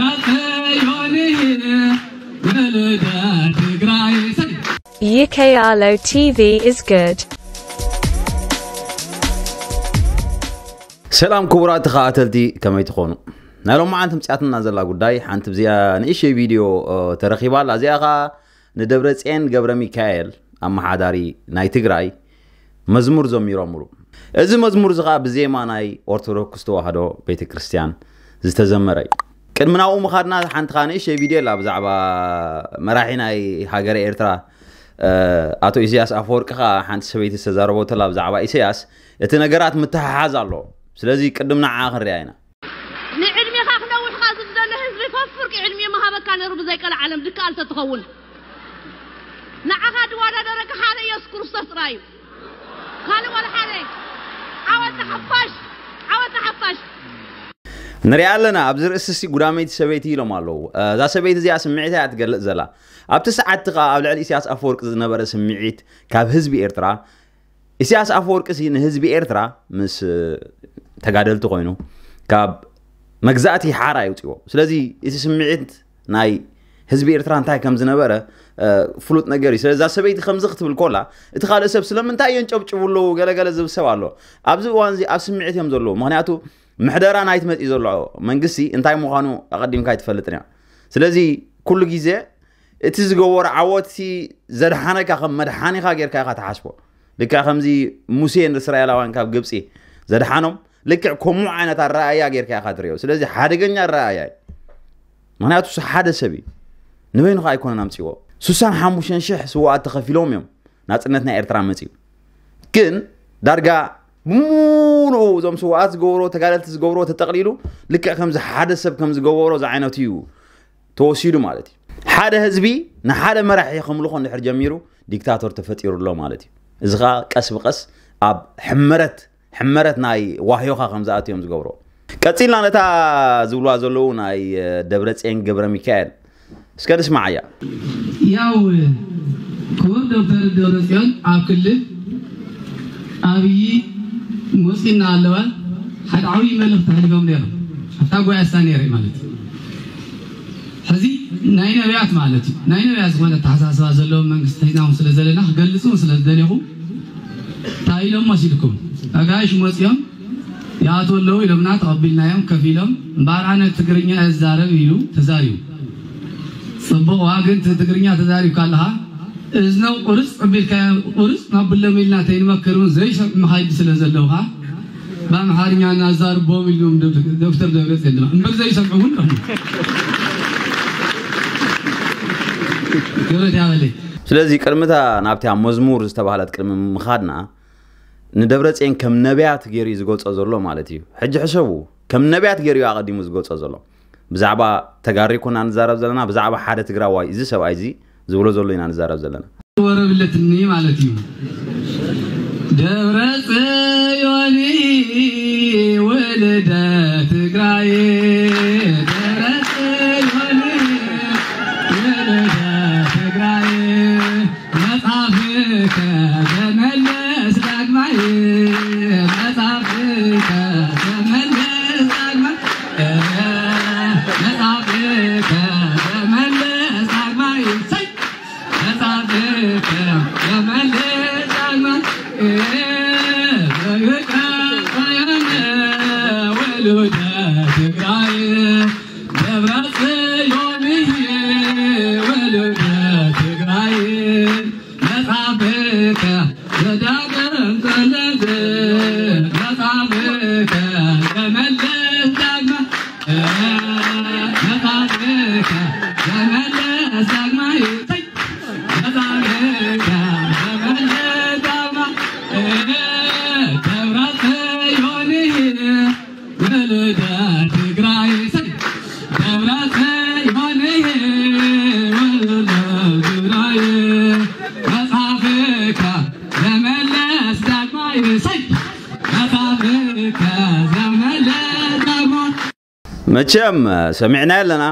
ራሰዮንህ ወለደ ትግራይ ሰይ U K R L O T V is good. ሰላም ክቡራት ተኸታተልቲ፣ ከመይ ትኾኑ? ናይ ሎማዓንቲ ምፅያትና ዘላ ጉዳይ ሓንቲ ብዚኣ ንእሽተይ ቪድዮ ተረኺባ ኣላ። እዚኣ ኸዓ ንደብረፅየን ገብረ ሚካኤል ኣመሓዳሪ ናይ ትግራይ መዝሙር ዘሚሮምሉ። እዚ መዝሙር እዚ ኸዓ ብዜማ ናይ ኦርቶዶክስ ተዋህዶ ቤተ ክርስቲያን ዝተዘመረ እዩ። ቅድሚ ናብኡ ምኻድና ሓንቲ ኸዓ ንእሽተይ ቪድዮ ኣላ ብዛዕባ መራሒ ናይ ሃገረ ኤርትራ ኣቶ ኢሳያስ ኣፈወርቂ ኸዓ ሓንቲ ሰበይቲ ዝተዛረበቶ ኣላ ብዛዕባ ኢሳያስ። እቲ ነገራት ምትሕሓዝ ኣሎ። ስለዚ ቅድም ንዓ ክንሪኣ ኢና። ንዕድሜኻ ክነውሕኻ ዝደለ ህዝቢ ፈፍርቂ ዕድሜ ምሃበካ ነሩ ብዘይ ቀልዓለም ድከኣል ተትኸውን ንዓኻ ድዋዳደረካ ሓደ ኢየሱስ ክርስቶስ ጥራይ እዩ። ካልእ ዋላ ሓደ። ዓወት ንሓፋሽ! ዓወት ንሓፋሽ! ንሪኣ ኣለና ኣብዚ ርእስሲ ጉዳመይቲ ሰበይቲ ኢሎም ኣለዉ። እዛ ሰበይቲ እዚኣ ስምዒታ እያ ትገልጽ ዘላ። ኣብቲ ሰዓት እቲ ኸኣ ኣብ ልዕሊ ኢሳያስ ኣፈወርቂ ዝነበረ ስምዒት ካብ ህዝቢ ኤርትራ ኢሳያስ ኣፈወርቂ ሲ ንህዝቢ ኤርትራ ምስ ተጋደልቲ ኮይኑ ካብ መግዛእቲ ሓራ ይውፅዎ። ስለዚ እቲ ስምዒት ናይ ህዝቢ ኤርትራ እንታይ ከም ዝነበረ ፍሉጥ ነገር እዩ። ስለዚ እዛ ሰበይቲ ከምዚ ክትብል ኮላ እቲ ካልእ ሰብ ስለምንታይ እዮም ጨብጭቡ ኣለዉ ገለገለ ዝብል ሰብ ኣሎ። ኣብዚ እዋን እዚ ኣብ ስምዒት እዮም ዘለዉ። ምክንያቱ ምሕደራ ናይቲ መፅኢ ዘሎ መንግስቲ እንታይ ምዃኑ ኣቐዲምካ ኣይትፈልጥን እያ። ስለዚ ኩሉ ግዜ እቲ ዝገበሮ ዓወትሲ ዘድሓነካ ከም መድሓኒኻ ጌርካ ኢኻ ትሓስቦ። ልክዕ ከምዚ ሙሴ ንእስራኤላውያን ካብ ግብፂ ዘድሓኖም ልክዕ ከምኡ ዓይነት ኣረኣእያ ጌርካ ኢኻ ትሪኦ። ስለዚ ሓደገኛ ኣረኣእያ እዩ። ምክንያቱ እሱ ሓደ ሰብ እዩ። ንበይኑ ኸዓ ኣይኮነን ኣምፅዎ። ስሳን ሓሙሽተን ሽሕ ስውኣት ተኸፊሎም እዮም ናፅነት ናይ ኤርትራ መፅዩ። ግን ዳርጋ ብምሉኡ እዞም ስውኣት ዝገብሮ ተጋደልቲ ዝገብሮ ተጠቕሊሉ ልክዕ ከምዚ ሓደ ሰብ ከም ዝገበሮ ዝዓይነቱ እዩ ተወሲዱ ማለት እዩ። ሓደ ህዝቢ ንሓደ መራሒ ከምልኾ እንድሕር ጀሚሩ ዲክታቶር ተፈጢሩ ኣሎ ማለት እዩ። እዚ ኸዓ ቀስ ብቐስ ኣብ ሕመረት ሕመረት ናይ ዋህዮኻ ከም ዝኣትዮም ዝገብሮ። ቀፂልና ነታ ዝብልዋ ዘለዉ ናይ ደብረፅየን ገብረ ሚካኤል እስከ ንስማዓያ። ያው ክቡር ዶክተር ደብረፅዮን ኣብ ክልል ኣብይ መፂና ኣለዋ ሓደ ዓብዪ መልእኽቲ ኣሕሊፎም ነይሮም ኣብታ ጓያሳ ነይረ ማለት እዩ። ሕዚ ናይ ነቢያት ማለት እዩ ናይ ነቢያት ዝኾነ ኣተሓሳስባ ዘለዎ መንግስቲ ሒዝናኹም ስለ ዘለና ክገልፁ ስለ ዝደለኹ እንታይ ኢሎም መሲልኩም ኣጋይሽ መፂኦም ይኣትዉ ኣለዉ ኢሎምና ተቐቢልናዮም ከፊሎም እምበኣር ኣነ ትግርኛ እየ ዝዛረብ ኢሉ ተዛሪቡ። ፅቡቕ ዋ ግን ትግርኛ ተዛሪብካ ኣለኻ እዝኖም ቁርፅ ኣቢልካዮም ቁርፅ ናብሎም ኢልና ተይንመክር እውን ዘይሰምዑ መኻይዲ ስለ ዘለውኻ ብኣምሓርኛ እናዛርቦም ኢሎም ዶክተር ደብረፅዮን ድማ እምበር ዘይሰምዑ እውን ኣለዉ። ክብረት ያበለይ። ስለዚ ቅድምታ ናብቲ ኣብ መዝሙር ዝተባህለት ቅድሚ ምኻድና ንደብረፅየን ከም ነቢያት ገይሩ እዩ ዝገልፆ ዘሎ ማለት እዩ። ሕጂ ሕሰቡ ከም ነቢያት ገይሩ እዩ ኣቐዲሙ ዝገልፆ ዘሎ። ብዛዕባ ተጋሪ ኮና ንዛረብ ዘለና ብዛዕባ ሓደ ትግራዋይ እዚ ሰብኣይ እዚ ዝብሎ ዘሎ ኢና ንዛረብ ዘለና። ወረብለትኒ ማለት እዩ። ደብረ ጽዮን ወለደ ትግራይ ደብረ ጽዮን ወለደ ትግራይ መጽሐፍከ ዘመለስ ዳግማይ መጽሐፍከ ዘመለስ ዳግማይ መጽሐፍከ ዘመለስ ዳግማይ መቸም ሰሚዕናዮ ኣለና።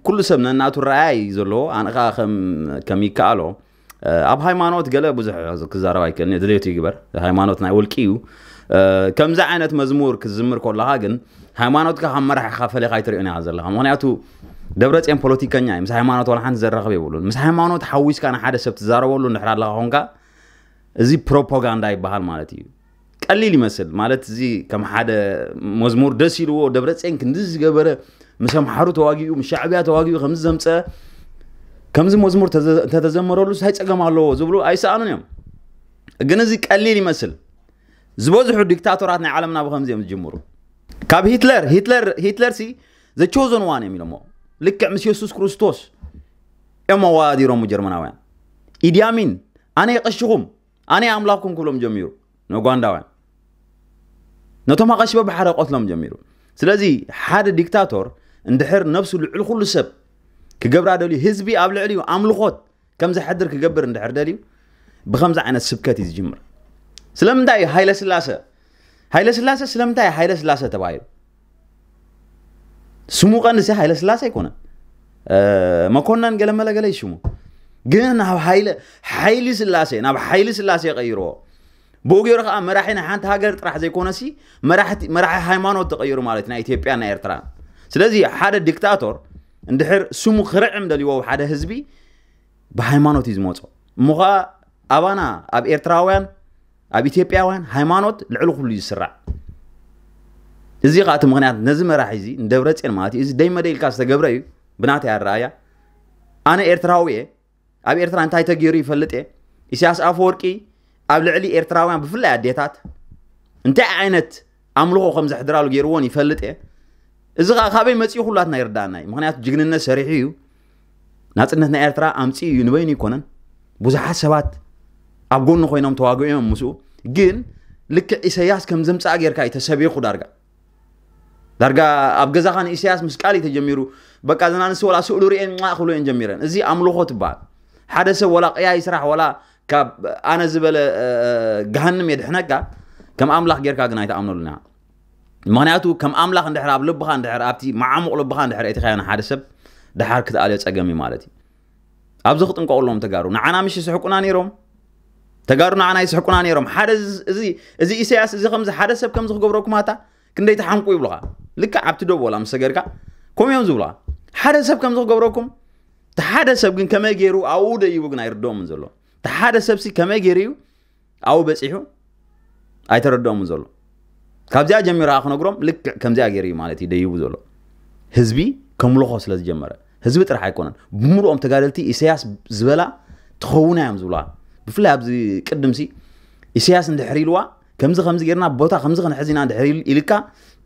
ኩሉ ሰብ ነናቱ ረኣያ እዩ ዘለዎ። ኣነ ኸዓ ከም ከም ይከኣሎ ኣብ ሃይማኖት ገለ ብዙሕ ክዛረብ ኣይክእልን እየ። ድሌቱ ይግበር። ሃይማኖት ናይ ውልቂ እዩ። ከምዚ ዓይነት መዝሙር ክትዝምር ከለኻ ግን ሃይማኖትካ ካብ መራሕኻ ፈሊኻ ኣይትሪኦን ኢኻ ዘለኻ። ምኽንያቱ ደብረፅዮን ፖለቲከኛ እዩ። ምስ ሃይማኖት ዋላ ሓንቲ ዘራኽብ የብሉን። ምስ ሃይማኖት ሓዊስካ ንሓደ ሰብ ትዛረበሉ እንድሕር ኣለኻ ኾንካ፣ እዚ ፕሮፓጋንዳ ይበሃል ማለት እዩ። ቀሊል ይመስል ማለት፣ እዚ ከም ሓደ መዝሙር ደስ ኢልዎ፣ ደብረፅዮን ክንዲ ዝገበረ፣ ምስ ኣምሓሩ ተዋጊኡ፣ ምስ ሻዕብያ ተዋጊኡ፣ ከምዚ ዘምፀ ከምዚ መዝሙር ተዘ- እንተተዘመረሉ እንታይ ፀገም ኣለዎ ዝብሉ ኣይሰኣኑን እዮም። ግን እዚ ቀሊል ይመስል። ዝበዝሑ ዲክታቶራት ናይ ዓለምና ብከምዚ እዮም ዝጅምሩ። ካብ ሂትለር ሂትለር ሂትለር ሲ ዘ ቾዘን ዋን እዮም ኢሎሞ። ልክዕ ምስ የሱስ ክርስቶስ እዮም ኣወዳዲሮም ጀርመናውያን። ኢዲ ኣሚን ኣነ የቐሽኹም ኣነ ኣምላኽኩም ክብሎም ጀሚሩ ንኡጋንዳውያን። ነቶም ኣቐሽበ ብሓደ ቆትሎም ጀሚሩ። ስለዚ ሓደ ዲክታቶር እንድሕር ነብሱ ልዕሊ ኩሉ ሰብ ክገብራ ደልዩ፣ ህዝቢ ኣብ ልዕሊኡ ኣምልኾት ከም ዘሕድር ክገብር እንድሕር ደልዩ፣ ብከምዚ ዓይነት ስብከት እዩ ዝጅምር። ስለምንታይ እዩ ሃይለ ስላሰ ሃይለ ስላሰ ስለምንታይ እዩ ሃይለ ስላሰ ተባሂሉ? ስሙ ቀንዲ ሃይለ ስላሰ ኣይኮነን። መኮነን ገለመለ ገለ ይሽሙ። ግን ናብ ሃይለ ሓይሊ ስላሴ ናብ ሓይሊ ስላሴ ቀይርዎ። ብኡ ገይሩ ከዓ መራሒ ናይ ሓንቲ ሃገር ጥራሕ ዘይኮነሲ መራሒ ሃይማኖት ተቀይሩ ማለት ናይ ኢትዮጵያ ናይ ኤርትራ። ስለዚ ሓደ ዲክታቶር እንድሕር ስሙ ክርዕም ደልዎ ሓደ ህዝቢ ብሃይማኖት እዩ ዝመፆ። እሞ ከዓ ኣባና ኣብ ኤርትራውያን ኣብ ኢትዮጵያውያን ሃይማኖት ልዕሊ ኩሉ እዩ ዝስራዕ። እዚ ከዓ እቲ ምክንያት ነዚ መራሒ እዚ ንደብረ ፅዮን ማለት እዩ። እዚ ደይ መደይ ኢልካ ዝተገብረ እዩ። ብናተይ ኣረኣያ ኣነ ኤርትራዊ እየ። ኣብ ኤርትራ እንታይ ተገይሩ ይፈልጥ እየ። ኢሳያስ ኣፈወርቂ ኣብ ልዕሊ ኤርትራውያን ብፍላይ ኣዴታት እንታይ ዓይነት ኣምልኾ ከም ዘሕድራሉ ገይርዎን ይፈልጥ እየ። እዚ ከዓ ካበይ መፂኡ ኩላትና ይርዳእና እዩ። ምክንያቱ ጅግንነት ሰሪሑ እዩ። ናፅነት ናይ ኤርትራ ኣምፂኡ እዩ። ንበይኑ ይኮነን። ብዙሓት ሰባት ኣብ ጎኑ ኮይኖም ተዋግኦም ምስኡ። ግን ልክዕ ኢሳያስ ከም ዘምፃእ ጌርካ እዩ ተሰቢኹ ዳርጋ ዳርጋ ኣብ ገዛኻ ንኢሳያስ ምስ ቃል እዩ ተጀሚሩ። በቃ ዘና ንስ ወላ ስእሉ ርኤን ማ ክብሎ እየን ጀሚረን። እዚ ኣምልኾ ትበሃል። ሓደ ሰብ ወላ ቅያ ይስራሕ ወላ ካብ ኣነ ዝበለ ገሃንም የድሕነካ ከም ኣምላኽ ጌርካ ግን ኣይተኣምነሉና። ምክንያቱ ከም ኣምላኽ እንድሕር ኣብ ልብኻ እንድሕር ኣብቲ መዓሙቕ ልብኻ እንድሕር እቲኻዮ ንሓደ ሰብ ድሓር ክትኣልዮ ጸገም እዩ ማለት እዩ። ኣብዚ ክጥንቀቑሎም ተጋሩ ንዓና ምሽ ይስሕቁና ነይሮም። ተጋሩ ንዓና ይስሕቁና ነይሮም። ሓደ እዚ ኢሳያስ እዚ ከምዚ ሓደ ሰብ ከምዚ ክገብረኩም ኣታ ክንደይ ተሓምቁ ይብሉኻ። ልክዕ ኣብቲ ዶብ ወላ ምስ ሰገርካ ከምኡ እዮም ዝብሉኻ። ሓደ ሰብ ከምዚ ክገብረኩም እቲ ሓደ ሰብ ግን ከመይ ገይሩ ኣብኡ ደይቡ ግን ኣይርድኦምን ዘሎ። እቲ ሓደ ሰብሲ ከመይ ገይሩ እዩ ኣብኡ በፂሑ ኣይተረድኦምን ዘሎ። ካብዚኣ ጀሚሩ ከዓ ክነግሮም ልክዕ ከምዚኣ ገይሩ እዩ ማለት እዩ ደይቡ ዘሎ። ህዝቢ ከምልኾ ስለ ዝጀመረ ህዝቢ ጥራሕ ኣይኮነን ብምሉኦም ተጋደልቲ ኢሳያስ ዝበላ ትኸውና እዮም ዝብሉዋ። ብፍላይ ኣብዚ ቅድምሲ ኢሳያስ እንድሕር ኢልዋ ከምዚ ከምዚ ጌርና ቦታ ከምዚ ክንሕዝ ኢና እንድሕር ኢልካ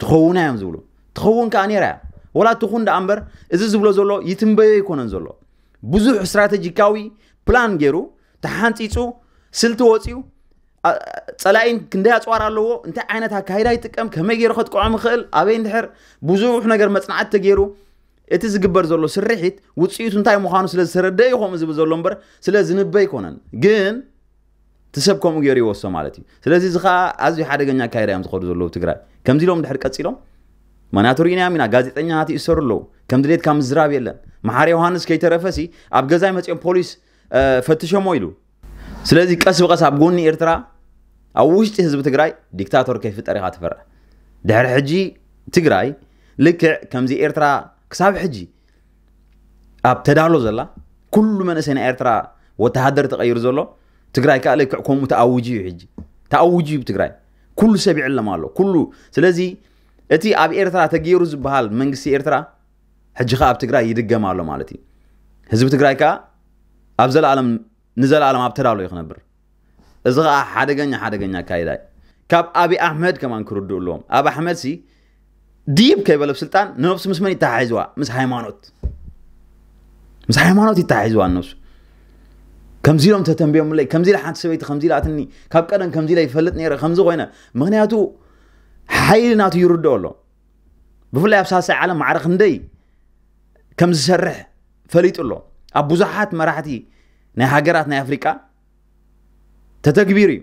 ትኸውና እዮም ዝብሉ። ትኸውን ከዓ ነይራ እያ። ወላ ትኹን ደኣ እምበር እዚ ዝብሎ ዘሎ ይትንበዮ ኣይኮነን ዘሎ። ብዙሕ ስትራተጂካዊ ፕላን ገይሩ ተሓንፂፁ ስልቲ ወፂኡ ፀላኢ ክንደይ ኣፅዋር ኣለዎ፣ እንታይ ዓይነት ኣካይዳ ይጥቀም፣ ከመይ ገይሩ ከጥቅዖም ይኽእል፣ ኣበይ እንድሕር ብዙሕ ነገር መፅናዕቲ ተገይሩ እቲ ዝግበር ዘሎ ስርሒት ውፅኢቱ እንታይ ምዃኑ ስለ ዝተረደእ እዩ ከምኡ ዝብል ዘሎ እምበር ስለ ዝንበ ኣይኮነን። ግን እቲ ሰብ ከምኡ ገይሩ ይወስዶ ማለት እዩ። ስለዚ እዚ ከዓ ኣዝዩ ሓደገኛ ኣካይዳ እዮም ዝኸዱ ዘለዉ ትግራይ። ከምዚ ኢሎም ድሕር ቀፂሎም ምክንያቱ ርኢናዮም ኢና። ጋዜጠኛታት ይእሰሩ ኣለዉ። ከም ድሌትካ ምዝራብ የለን። መሓሪ ዮሃንስ ከይተረፈሲ ኣብ ገዛይ መፂኦም ፖሊስ ፈትሸሞ ኢሉ። ስለዚ ቀስ ብቐስ ኣብ ጎኒ ኤርትራ ኣብ ውሽጢ ህዝቢ ትግራይ ዲክታቶር ከይፍጠር ኢኻ ትፈርሕ። ድሕሪ ሕጂ ትግራይ ልክዕ ከምዚ ኤርትራ ክሳብ ሕጂ ኣብ ተዳሎ ዘላ ኩሉ መንእሰይ ናይ ኤርትራ ወተሃደር ተቐይሩ ዘሎ ትግራይ ከዓ ልክዕ ከምኡ ተኣውጁ እዩ። ሕጂ ተኣውጁ እዩ ትግራይ። ኩሉ ሰብ ይዕለም ኣሎ ኩሉ። ስለዚ እቲ ኣብ ኤርትራ ተገይሩ ዝበሃል መንግስቲ ኤርትራ ሕጂ ከዓ ኣብ ትግራይ ይድገም ኣሎ ማለት እዩ። ህዝቢ ትግራይ ከዓ ኣብ ዘለኣለም ንዘለኣለም ኣብ ተዳሎ እዩ ክነብር። እዚ ከዓ ሓደገኛ ሓደገኛ ኣካይዳ እዩ። ካብ ኣብይ ኣሕመድ ከማን ክርድኡ ኣለዎም። ኣብ ኣሕመድ ሲ ዲብ ከይበለ ስልጣን ንነብሱ ምስ መን ይተሓሒዝዋ? ምስ ሃይማኖት ምስ ሃይማኖት ይተሓሒዝዋ ነብሱ። ከምዚ ኢሎም ተተንብዮምለይ ከምዚ ኢለ ሓንቲ ሰበይቲ ከምዚ ኢላትኒ ካብ ቀደም ከምዚ ኢለ ይፈልጥ ነይረ ከምዚ ኮይነ። ምክንያቱ ሓይሊ ናቱ ይርድኦ ኣሎ። ብፍላይ ኣብ ሳልሳይ ዓለም ማዕረ ክንደይ ከም ዝሰርሕ ፈሊጡ ኣሎ። ኣብ ብዙሓት መራሕቲ ናይ ሃገራት ናይ ኣፍሪቃ ተተግቢሩ እዩ።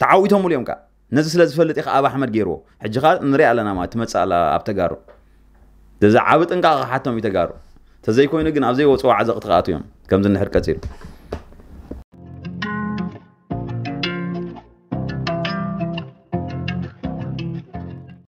ተዓዊቶምሉ እዮም ከዓ። ነዚ ስለ ዝፈልጥ እዩ ከዓ ኣብ ኣሕመድ ገይርዎ። ሕጂ ከዓ ንሪኣ ኣለና ማለት ትመፅእ ኣላ ኣብ ተጋሩ። እዚ ዓቢ ጥንቃቐ ክሓቶም እዩ ተጋሩ። ተዘይኮይኑ ግን ኣብ ዘይወፅኦ ዓዘቕ ትኽኣቱ እዮም ከምዚ እንድሕር ቀፂሉ።